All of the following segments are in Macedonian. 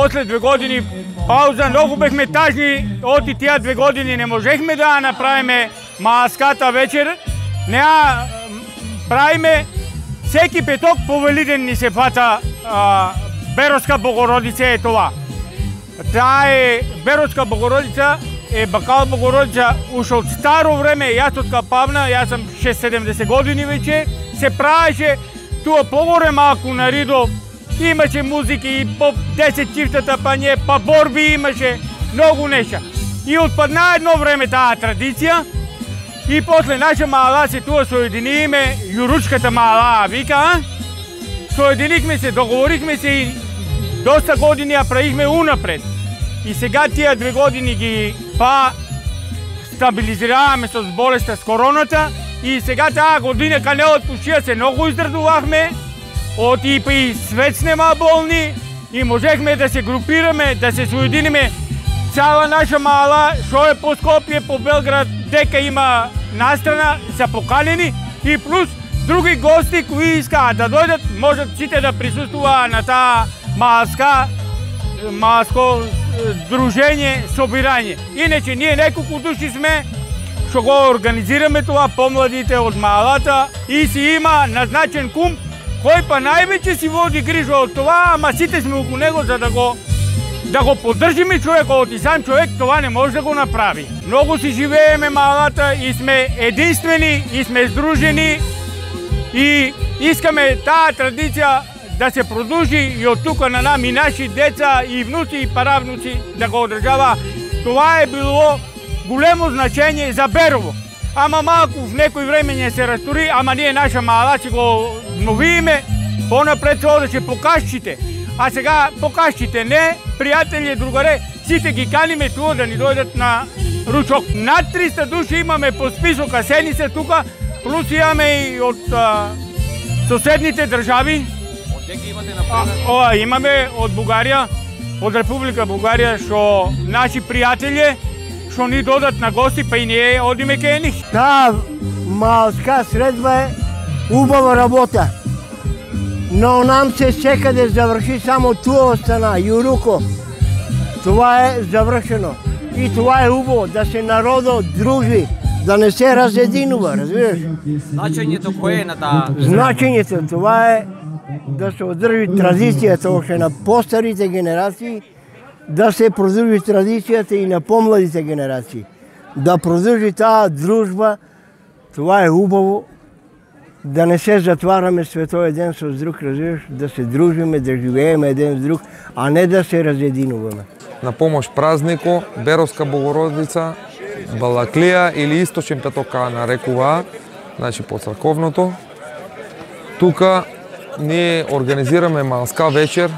после 2 години пауза, многу бехме тажни, оти тие 2 години не можехме да направиме маската вечер, не правиме секи петок по Велиден ни се фата Беровска Богородица е това. Таа е Беровска Богородица, е Бакал Богородица уште од старо време, јас од Капавна, јас сум 6-70 години веќе, се правеше туа погоре малку на Ридо, имаше музики и по 10 чифтата па не, па борби имаше, многу нешта. И отпадна едно време таа традиција, и после наша мала се туа соединиме, Јуручката мала вика, соединихме се, договорихме се и доста години ја правихме унапред. И сега тие 2 години ги стабилизираваме со болеста с короната и сега таа година кај не отпушија се многу издрадувавме, оти и свет снема болни и можехме да се групираме, да се соединиме. Цяла наша мала, шо е по Скопје, по Белград, дека има настрана, се поканени и плюс други гости кои искаат да дојдат, можат сите да присуствуваат на таа малско дружење, собирање. Иначе ние неколку души сме што го организираме тоа, помладите од малата и си има назначен кум кој па највеќе си води грижа од тоа, ама сите сме околу него за да го поддржиме човекот и сам човек тоа не може да го направи. Многу си живееме малата и сме единствени и сме здружени и искаме таа традиција да се продолжи и од тука на нам и наши деца и внуци и паравнуци да го одржава. Това е било големо значење за Берово. Ама малку в некој време не се растори, ама ние наша мала си го обновиме, понапред се одеше по кашчите. А сега по кашчите не, пријатели, другаре, сите ги каниме туа да ни дојдат на ручок. Над 300 души имаме по список, сени се тука, плюс имаме и од соседните држави. Имаме од Бугарија, од Република Бугарија, што наши пријатели што ни додат на гости, па и ние одиме кај нив. Таа малска средба е убава работа, но нам се секаде заврши, само туа остана, Јуруко. Това е завршено. И това е убаво, да се народот дружи, да не се разединува, разбираш? Значењето кое е на таа? Значењето, това е да се одржи традицијата още на постарите генерации, да се продолжи традицијата и на помладите генерации. Да продолжи таа дружба, това е убаво, да не се затвараме светој еден со друг, разбираш, да се дружиме, да живееме еден с друг, а не да се разединуваме. На помош празнико, Беровска Богородица, Балаклија или Источен петок нарекуваат, значи по црковното. Тука ние организираме малска вечер,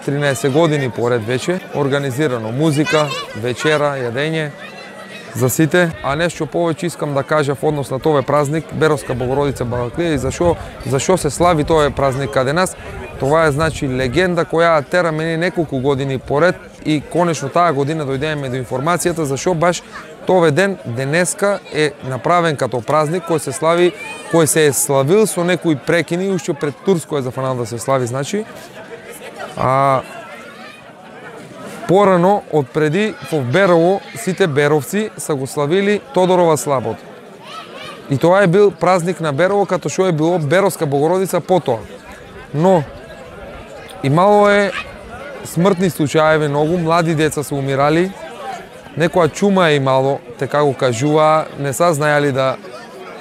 13 години поред веќе, организирано музика, вечера, јадење за сите, а нешто повеќе искам да кажав однос на тој празник, Беровска Богородица Балаклија и зашо се слави тој празник каде нас. Това е значи легенда која тера мене неколку години поред и конечно таа година дојдеме до информацијата зашо баш тој ден денеска е направен като празник кој се слави, кој се е славил со некои прекини уште пред Турско е зафанал да се слави, значи. Порано од преди во Берово сите беровци са го славили Тодорова слабот. И тоа е бил празник на Берово като што е било Беровска Богородица потоа. Но имало е смртни случаи, многу млади деца се умирали, некоја чума е имало, така го кажува, не са знаели да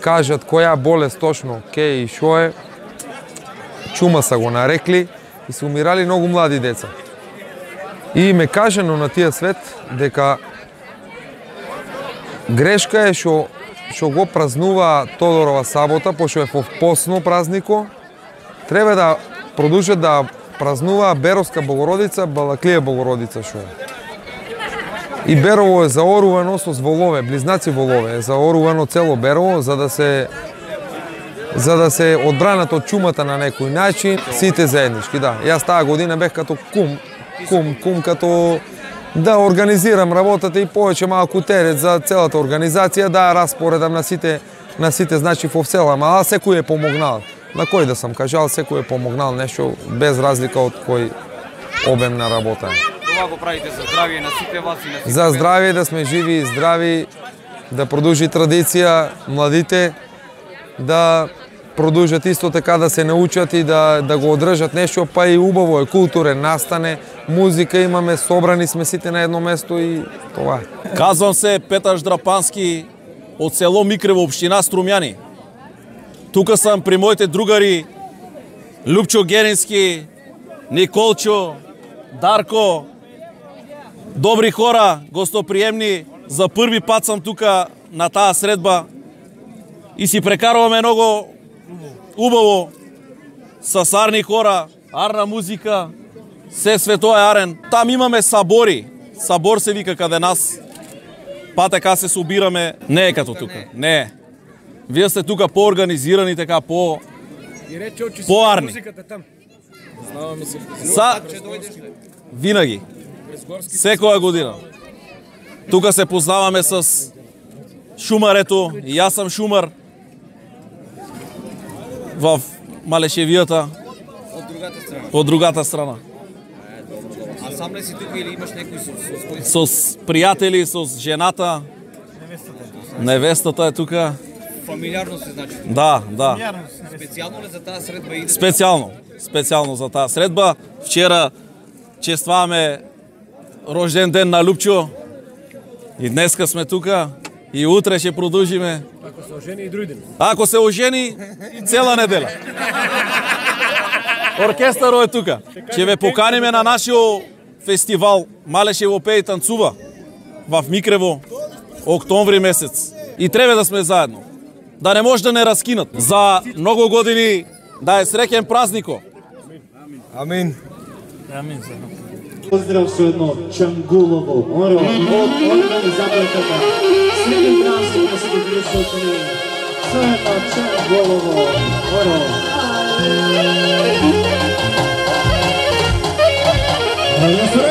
кажат која болест точно ке и шо е, чума са го нарекли и се умирали многу млади деца. И ме кажано на тие свет дека грешка е што го празнува Тодорова сабота, пошто е во посно празнико, треба да продолжат да празнува Беровска Богородица, Балаклија Богородица шо е. И Берово е заорувано со волове, близнаци волове, е заорувано цело Берово за да се одбранат од чумата на некој начин, сите заеднички, да. Јас таа година бех като кум като да организирам работата и повеќе малку терет за целата организација, да распоредам на сите значи во села, ама секој е помогнал. На кој да сам кажал, секој е помогнал нешто без разлика од обемна работа. Това го правите за здравие на сите вас и на сите. За здравие, да сме живи и здрави, да продолжи традиција, младите да продолжат исто така да се научат и да го одржат нешто, па и убаво е, културен настане, музика имаме, собрани сме сите на едно место и това е. Казвам се Петар Ждрапански од село Микрево, општина Струмјани. Тука сам при моите другари Лупчо Герински, Николчо, Дарко, добри хора, гостоприемни. За први пат сам тука на таа средба и си прекаруваме многу убаво со арни хора, арна музика, се тоа е арен. Там имаме сабори. Сабор се вика каде нас. Па така се собираме. Не е като тука. Не е. Вие сте тука поорганизирани, така по-арни. Винаги. Секоја година. Тука се познаваме с шумарето. И јас сам шумар в Малешевијата. Од другата страна. А сам ли си тука или имаш некои со пријатели, со жената. Невестата е тука. Фамилиарно се значи? Да. Специјално ли за таа средба иде? Специјално за таа средба. Вчера честваме рожден ден на Лупчо. И днеска сме тука. И утре ќе продолжиме. Ако се ожени и други ден. Ако се ожени, цела недела. Оркестарот е тука. Ќе ве поканиме на нашиот фестивал Малешево пее и танцува в Микрево октомври месец. И треба да сме заедно. Да не може да не раскинат. За многу години да е среќен празнико. Амин. Поздрав со едно Чангулово, моро, од организаторката. Среќен празник на сите присутни. Со едно Чангулово, моро. Ајде,